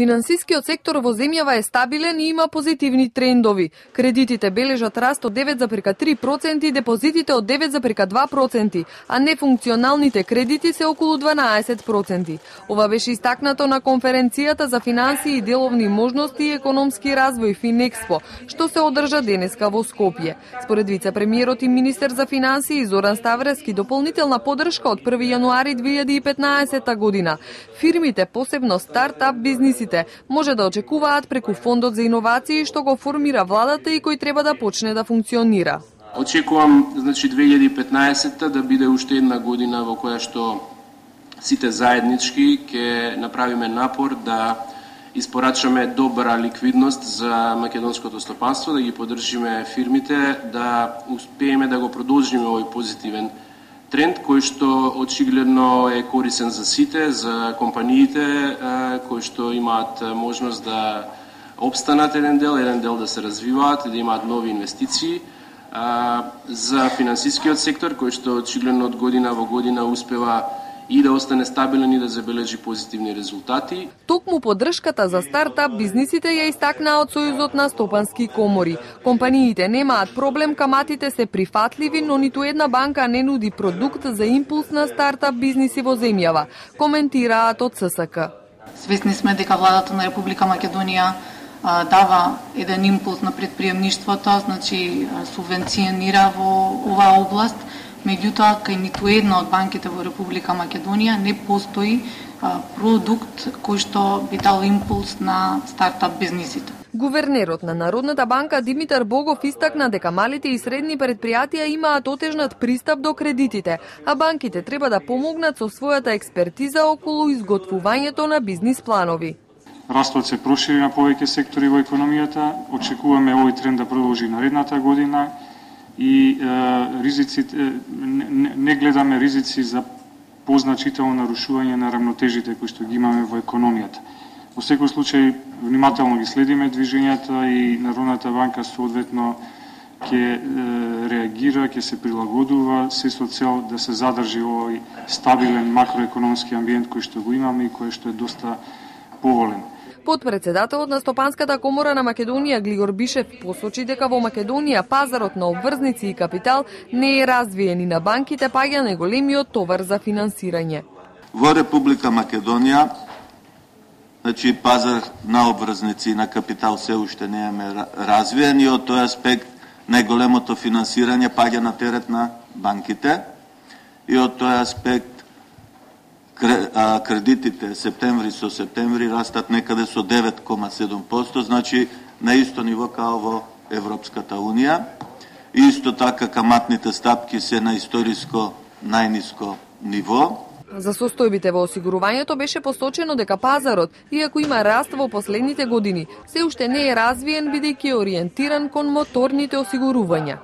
Финансискиот сектор во земјава е стабилен и има позитивни трендови. Кредитите бележат раст од 9,3% и депозитите од 9,2%, а нефункционалните кредити се околу 12%. Ова беше истакнато на конференцијата за финансии и деловни можности и економски развој Финекспо, што се одржа денеска во Скопје. Според вице-премиерот и министер за финансии Зоран Ставрески, дополнителна поддршка од 1 јануари 2015 година. Фирмите, посебно стартап бизнисите, може да очекуваат преку фондот за иновации што го формира владата и кој треба да почне да функционира. Очекувам, 2015 да биде уште една година во која што сите заеднички ќе направиме напор да испорачаме добра ликвидност за македонското стопанство, да ги поддржиме фирмите, да успееме да го продолжиме овој позитивен тренд кој што очигледно е корисен за сите, за компаниите кои што имаат можност да опстанат еден дел да се развиваат и да имаат нови инвестиции, за финансискиот сектор кој што очигледно од година во година успева и да остане стабилен и да забележи позитивни резултати. Токму поддршката за стартап бизнисите ја истакнаа од Сојузот на стопански комори. Компаниите немаат проблем, каматите се прифатливи, но ниту една банка не нуди продукт за импулс на стартап бизниси во земјава, коментираат од ССК. Свесни сме дека владата на Република Македонија дава еден импулс на предприемништвото, значи субвенционира во оваа област. Меѓутоа, кај ниту една од банките во Република Македонија не постои продукт кој што би дал импулс на стартап бизнисите. Гувернерот на Народната банка Димитар Богов истакна дека малите и средни предпријатија имаат отежнат пристап до кредитите, а банките треба да помогнат со својата експертиза околу изготвувањето на бизнис планови. Растот се прошири на повеќе сектори во економијата, очекуваме овој тренд да продолжи наредната година и ризиците, не гледаме ризици за позначително нарушување на рамнотежите кои што ги имаме во економијата. Во секој случај, внимателно ги следиме движењата и Народната банка соодветно ќе реагира, ќе се прилагодува, се со цел да се задржи овој стабилен макроекономски амбиент кој што го имаме и кој што е доста поволен. Потпредседателот на Стопанската комора на Македонија Глигор Бишев посочи дека во Македонија пазарот на обврзници и капитал не е развиен и на банките паѓа најголемиот товар за финансирање. Во Република Македонија, значи пазар на обврзници и на капитал се уште не е развиен и од тој аспект најголемото финансирање паѓа на терет на банките и од тој аспект кредитите септември со септември растат некаде со 9,7%, значи на исто ниво као во Европската Унија. И исто така каматните стапки се на историско најниско ниво. За состојбите во осигурувањето беше посочено дека пазарот, иако има раст во последните години, се уште не е развиен бидејќи е ориентиран кон моторните осигурувања.